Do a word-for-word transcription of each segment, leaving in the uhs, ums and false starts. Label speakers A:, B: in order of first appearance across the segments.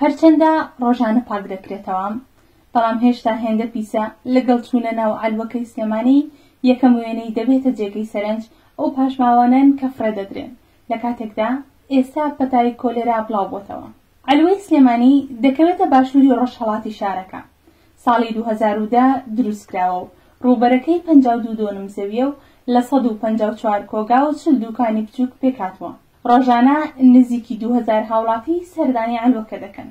A: هەرچەندە ڕۆژانە پاک دەکرێتەوە، بەڵام هێشتا هێندە پیسە لەگەڵ چوونە ناو عەلوەکەی سلێمانی یەکەم وێنەی دەبێتە جێگەی سەرنج ئەو پاشماوانەن کە فڕێ دەدرێن، لە کاتێکدا ئێستا پەتای کۆلێرا بڵاو بۆتەوە. عەلوەی سلێمانی دەکەوێتە باشووری ڕۆژهەڵاتی شارەکە. ساڵی دوو هەزار و دە دروستکراوە و ڕووبەرەکەی پەنجا و دوو دۆنم زەویە و لە سەد و پەنجا و چوار کۆگا و چل دوکانی بچووک پێکهاتووە. ڕۆژانە نزیکی دوو هەزار هاوڵاتی سەردانی عەلوەکە دەکەن.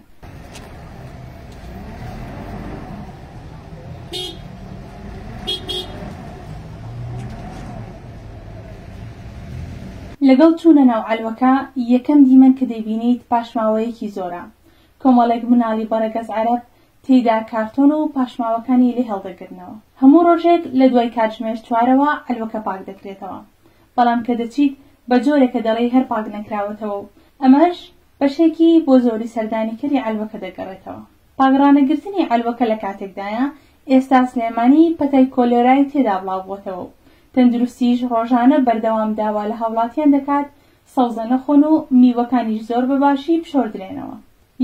A: لەگەڵ چوونە ناو عەلوەکە یەکەم دیمەن کە دەیبینیت پاشماوەیەکی زۆرە. کۆمەڵێک مناڵی بەڕەگەز عەرەب تێیدا کارتۆن و پاشماوەکانی لێ هەڵدەگرنەوە. هەموو ڕۆژێک لە دوای کاتژمێر چوارەوە عەلوەکە پاک دەکرێتەوە، بەڵام کە دەچیت بە جۆرێکە دەڵێی هەر پاک نەکراوەتەوە و ئەمەش بەشێکی بۆ زۆری سەردانیکەری عەلوەکە دەگەڕێتەوە. پاکڕانەگرتنی عەلوەکە لە کاتێکدایە ئێستا سلێمانی پەتای کۆلێرای تێدا بڵاو بۆتەوە و تەندروستیش ڕۆژانە بەردەوام داوا لە هاوڵاتیان دەکات سەوزە نەخۆن و میوەکانیش زۆر بەباشی بشۆردرێنەوە.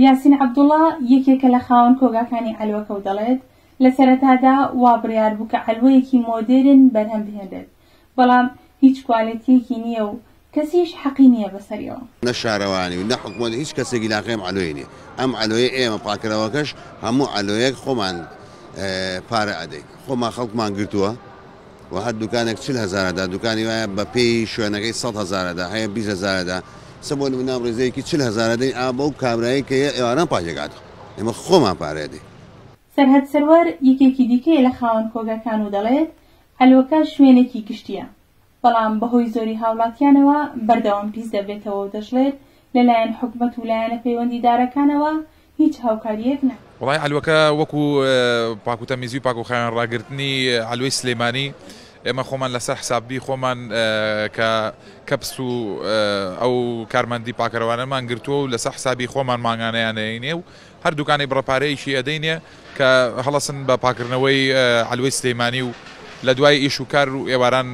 A: یاسین عەبدوڵڵا یەکێکە لە خاوەن کۆگاکانی عەلوەکە و دەڵێت لە سەرەتادا وا بڕیار بوو کە عەلوەیەکی مۆدێرن بەرهەم بهێنرێت، بەڵام هیچ کوالێتیەکی نییە و کەسیش حەقی نییە بەسەریەوە.
B: نە شارەوانی و نە حکومەت هیچ کەسێکی لاقەی ئەم عەلوەیە نییە. ئەم عەلوەیە ئێمە پاککەرەوەکەش هەموو عەلوەیەک خۆمان پارە ئەدەین، خۆمان خەڵکمان گرتووە و هەر دوکانێک چل هەزارەدا، دوکانی وایە بە پێی شوێنەکەی سەد هەزارەدا هەیە بیست هەزارەدا، سە بۆ نمونە ڕێزەیەکی چل هەزارەدەین ئا بەو کابرایی کە ئێواران پاکێکاتەوە، ئێمە خۆمان پارە ئەدەین.
A: سەرهەد سەروەر یەکێکی دیکەیە لە خاوەن کۆگاکان و دەڵێت عەلوەکە شوێنێکی گشتیە، بەڵام بەهۆی زۆری هاوڵاتیانەوە بەردەوام پیس دەبێتەوە و دەشڵێت لەلایەن حکومەت و لایەنە پەیوەندیدارەکانەوە هیچ هاوکاریەک ناکرێت.
C: وڵای عەلوەکە وەکو پاک و تەمیزی و پاک و خاوێن ڕاگرتنی عەلوەی سلێمانی ئێمە خۆمان لەسەر حسابی خۆمان کە کەپس و ئەو کارمەندی پاکەرەوانەمان گرتووە و لەسەر حسابی خۆمان مانگانەیانەیەینێ و هەر دوکانەی بڕەپارەیەکی ئەدەینێ کە هەڵەسن بە پاکردنەوەی عەلوەی سلێمانی و لە دوای ئیش و کار و ئێواران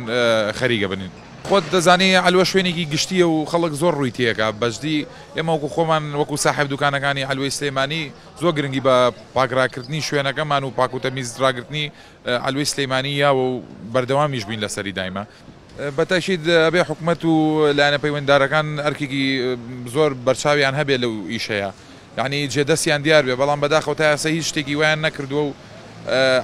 C: خەریکە بنین. خۆت دەزانی عەلوە شوێنێکی گشتیە و خەڵک زۆر ڕووی تێکا. بەجدی ئێمە وەکو خۆمان وەکو ساحێب دوکانەکانی عەلوەی سلێمانی زۆر گرنگی بە پاکڕاکردنی شوێنەکەمان و پاک و تەمیز ڕاگرتنی عەلوەی سلێمانی یاوە و بەردەوامیش بین لەسەری دایمە. بەتەشید ئەبێ حکومەت و لایەنە پەیوەنددارەکان ئەرکێکی زۆر بەرچاویان هەبێ لەو ئیشەیە، یعنی جێدەستیان دیار بێ، بەڵام بەداخەوە تا ئێستا هیچ شتێکی وایان نەکردووە و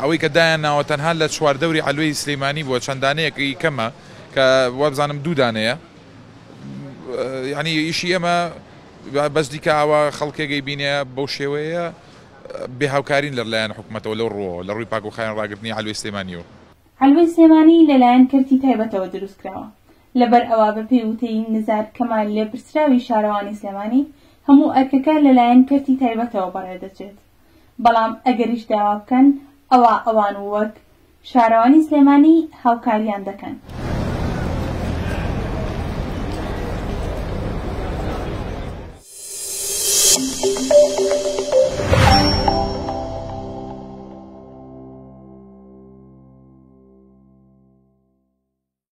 C: ئەوەی کە دایان ناوە تەنها لە چواردەوری عەلوەی سلێمانی بووە، چەند دانەیەکی کەمە کە وابزانم دوو دانەیە. یعنی ئیشی ئێمە بەس دیکە ئاوا خەڵکێکەی بینێ بەو شێوەیە بێهاوکارین لە لایەن حکومەتەوە لەو ڕووەوە لە ڕووی پاک و خاوێن ڕاگرتنی عەلوەی سلێمانیەوە.
A: عەلوەی سلێمانی لەلایەن کەرتی تایبەتەوە دروستکراوە، لەبەر ئەوە بەپێی وتەی نزار کەمال لێپرسراوی شارەوانی سلێمانی هەموو ئەرکەکە لەلایەن کەرتی تایبەتەوە بەڕێدەچێت، بەڵام ئەگەریش داوا بکەن ئەوە ئەوان وەک شارەوانی سلێمانی هاوکاریان دەکەن.
D: Thank you.